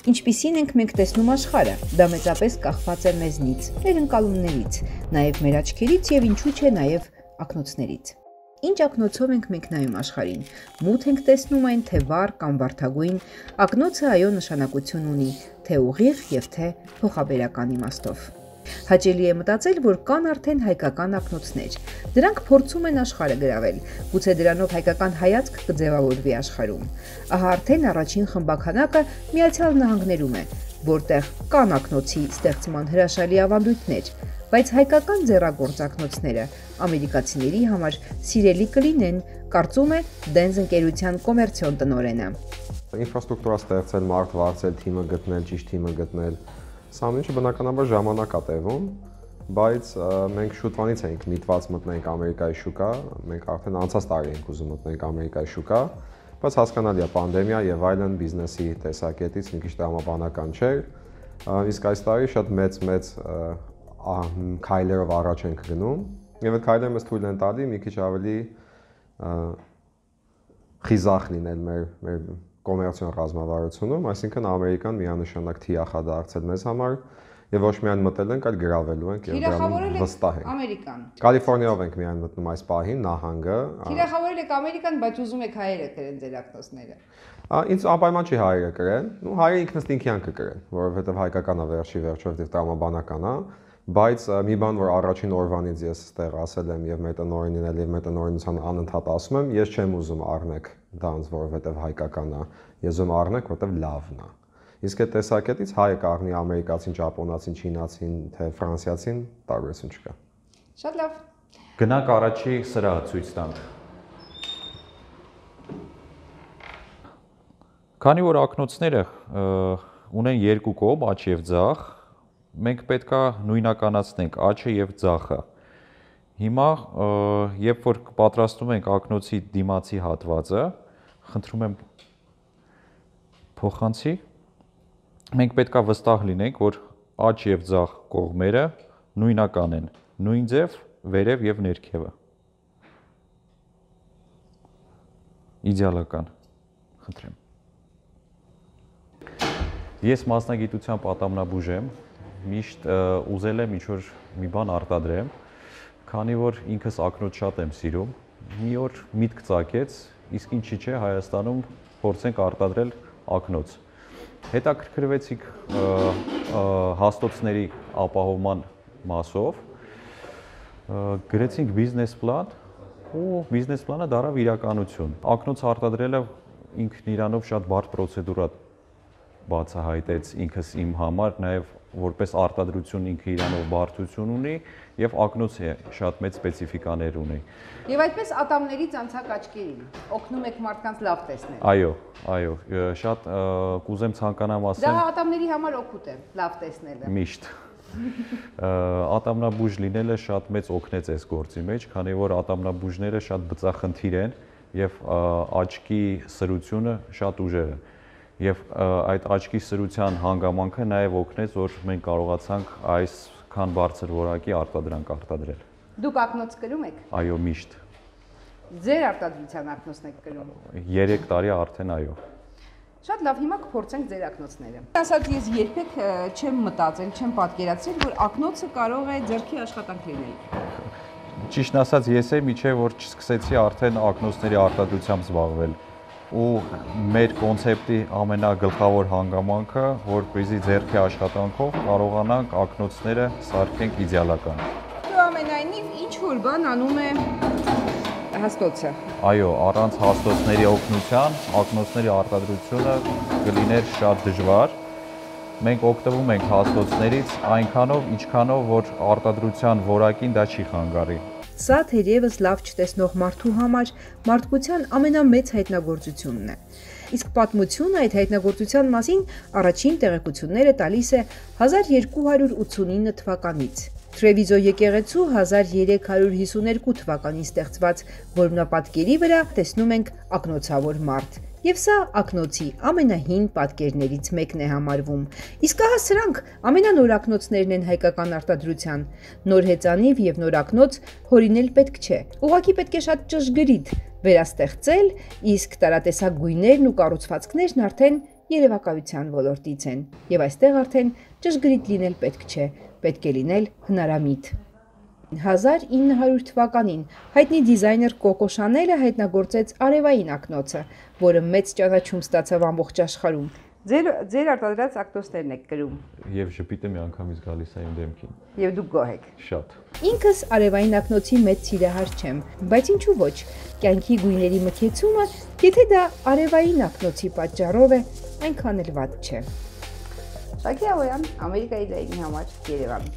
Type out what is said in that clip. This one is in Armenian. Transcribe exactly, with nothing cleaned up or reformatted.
Ինչպիսին ենք մենք տեսնում աշխարհը, դա մեծապես կախված է մեզնից, մեր ընկալումներից, նաև մեր աչքերից եւ ինչու՞ չէ նաև ակնոցներից։ Ինչ ակնոցով ենք մենք նայում աշխարհին, մութ ենք տեսնում այն, թե վառ կամ վարդագույն, ակնոցը այո նշանակություն ունի, թե ուղիղ եւ թե փոխաբերական իմաստով։ Հաճելի է մտածել, որ կան արդեն հայկական ակնոցներ։ Դրանք փորձում են աշխարհը գրավել, գուցե դրանով հայկական հայացք կձևավորվի աշխարհում։ Ահա արդեն առաջին խմբականակը Միացյալ Նահանգներում է, որտեղ կան ակնոցի ստեղծման հրաշալի ավանդույթներ, բայց հայկական ձեռագործակնոցները ամերիկացիների համար սիրելի կլինեն, կարծում է Դենզ ընկերության կոմերցիոն տնօրենը։ Ինֆրաստրուկտուրա ստեղծել, մարդ վարձել, թիմը գտնել, ճիշտ թիմը գտնել, սա ինչը բնականաբար ժամանակ է տևում, բայց մենք շուտվանից ենք միտված մտնենք Ամերիկայի շուկա, մենք արդեն անցած տարի ենք ուզում մտնենք Ամերիկայի շուկա, բայց հասկանալի է պանդեմիա եւ այլն բիզնեսի տեսակետից մի քիչ տրամաբանական չէր, իսկ այս տարի շատ մեծ-մեծ քայլերով առաջ ենք գնում եւ այդ քայլերը մեզ թույլ են տալի մի քիչ ավելի խիզախ լինել մեր մեր կոմերցիոն ռազմավարությունում, այսինքն Ամերիկան միանշանակ թիախ է դարձել մեզ համար եւ ոչ միայն մտել ենք, այլ գրավելու ենք եւ դրանում վստահ ենք։ Ամերիկան։ Կալիֆոռնիայով ենք միայն մտնում այս պահին, նահանգը։ Թիրախավորել եք Ամերիկան, բայց ուզում եք հայերը կրեն ձեր ակնոցները։ Ինձ անպայման չի հայերը կրեն, ու հայերը ինքնս ինքյան կկրեն, որովհետեւ հայկականն է վերջի վերջով դեռ տրամաբանական է, բայց մի բան, որ առաջին օրվանից ես այստեղ ասել եմ եւ մեր տնօրենին էլ եւ մեր տնօրենության անընդհատ ասում եմ, ես չեմ ուզում առնեք դանց, որովհետեւ հայկական է, ես ուզում առնեք, որովհետեւ լավն է։ Իսկ այդ տեսակետից հայը կառնի ամերիկացին, ճապոնացին, չինացին, թե ֆրանսիացին, տարբերություն չկա։ Շատ լավ։ Գնանք առաջի սրահը ցույց տանք։ Քանի որ ակնոցները ունեն երկու կողմ, աջ եւ ձախ, մենք պետք է նույնականացնենք աջը եւ ձախը։ Հիմա, երբ որ պատրաստում ենք ակնոցի դիմացի հատվածը, խնդրում եմ փոխանցի, մենք պետք է վստահ լինենք, որ աջ եւ ձախ կողմերը նույնական են, նույն ձև, վերև եւ ներքևը։ Իդեալական, խնդրեմ։ Ես մասնագիտությամբ ատամնաբուժ եմ, միշտ ուզել եմ ինչ-որ մի բան արտադրեմ, քանի որ ինքս ակնոց շատ եմ սիրում, մի օր միտք ծագեց, իսկ ինչի՞ չէ Հայաստանում փորձենք արտադրել ակնոց։ Հետաքրքրվեցինք հաստոցների ապահովման մասով, գրեցինք բիզնես պլան ու բիզնես պլանը դարավ իրականություն։ Ակնոց արտադրելը ինքն իրանով շատ բարդ պրոցեդուրա բացահայտեց ինքս իմ համար, նաև որպես արտադրություն ինքը իրանով բարդություն ունի եւ ակնոցը շատ մեծ սպეციფიկաներ ունի։ Եվ այդպես ատամներից անցակ աչքերին օգնում եք մարդկանց լավ տեսնել։ Այո, այո, շատ կուզեմ ցանկանամ ասեմ։ Դա ատամների համար օգուտ է, լավ տեսնելը։ Միշտ։ Ատամնաբուժ լինելը շատ մեծ օգնեց այս գործի մեջ, քանի որ ատամնաբուժները շատ բծախնդիր են եւ աչքի սրությունը շատ ուժեղ է։ Եվ այդ աչքի սրության հանգամանքը նաև օգնեց, որ մենք կարողացանք այսքան բարձր որակի արտադրանք արտադրել։ Դուք ակնոց կրում եք։ Այո, միշտ։ Ձեր արտադրության ակնոցն եք կրում։ երեք տարի արդեն այո։ Շատ լավ, հիմա կփորձենք ձեր ակնոցները։ Ասած ես երբեք չեմ մտածել, չեմ պատկերացրել, որ ակնոցը կարող է ձեռքի աշխատանք լինել։ Ճիշտն ասած, ես եմ իջե որ չսկսեցի արդեն ակնոցների արտադրությամբ զբաղվել։ Ու մեր կոնցեպտի ամենագլխավոր հանգամանքը, որպեսզի ձեռքի աշխատանքով կարողանանք ակնոցները սարքենք իդեալական։ Ու ամենայնիվ ինչ որ բան անում է հաստոցը։ Այո, առանց հաստոցների օգնության ակնոցների արտադրությունը կլիներ շատ դժվար։ Մենք օգտվում ենք հաստոցներից այնքանով, ինչքանով որ արտադրության որակին դա չի խանգարի։ Սա թերևս լավ չտեսնող մարդու համար մարդկության ամենամեծ հայտնագործությունն է։ Իսկ պատմությունը այդ հայտնագործության մասին առաջին տեղեկությունները տալիս է հազար երկու հարյուր ութսունինը թվականից։ Թրևիզո եկեղեցու հազար երեք հարյուր հիսուներկու թվականին ստեղծված որմնապատկերի վրա տեսնում ենք ակնոցավոր մարդ։ Եվ սա ակնոցի ամենահին պատկերներից մեկն է համարվում։ Իսկ ահա սրանք ամենանոր ակնոցներն են հայկական արտադրության։ Նոր հեծանիվ եւ նոր ակնոց հորինել պետք չէ։ Ուղղակի պետք է շատ ճշգրիտ վերաստեղծել, իսկ տարատեսակ գույներն ու կառուցվածքներն արդեն երևակայության ոլորտից են, եւ այստեղ արդեն ճշգրիտ լինել պետք չէ, պետք է լինել հնարամիտ։ հազար ինը հարյուր թվականին հայտնի դիզայներ Կոկո Շանելը հայտնագործեց արևային ակնոցը, որը մեծ ճանաչում ստացավ ամբողջ աշխարհում։ Ձեր ձեր արտադրած ակնոցներն եք կրում։ Եվ ժպիտը միանգամից գալիս է իմ դեմքին։ Եվ դուք գոհ եք։ Շատ։ Ինքս արևային ակնոցի մեծ սիրահար չեմ, բայց ինչու ոչ։ Կյանքի գույների մթեցումը, եթե դա արևային ակնոցի պատճառով է, այնքան էլ վատ չէ։ Շակի Ավոյան, Ամերիկայի դայնի համար Երևան։